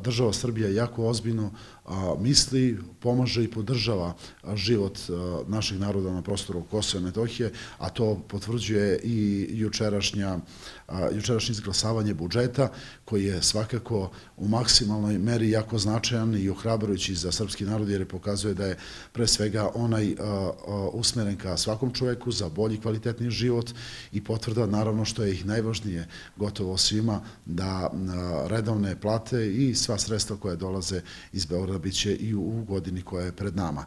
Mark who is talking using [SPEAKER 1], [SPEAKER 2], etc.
[SPEAKER 1] država Srbija jako ozbiljno misli, pomaže i podržava život naših naroda na prostoru Kosova i Metohije, a to potvrđuje i jučerašnje izglasavanje budžeta, koji je svakako u maksimalnoj meri jako značajan i ohrabrujući za srpski narod, jer pokazuje da je pre svega onaj usmeren ka svakom čoveku za bolji, kvalitetniji život i potvrda, naravno, što je ih najvažnije gotovo svima, da redovne plate i sva sredstva koja dolaze iz Beograda biće i u godini koja je pred nama.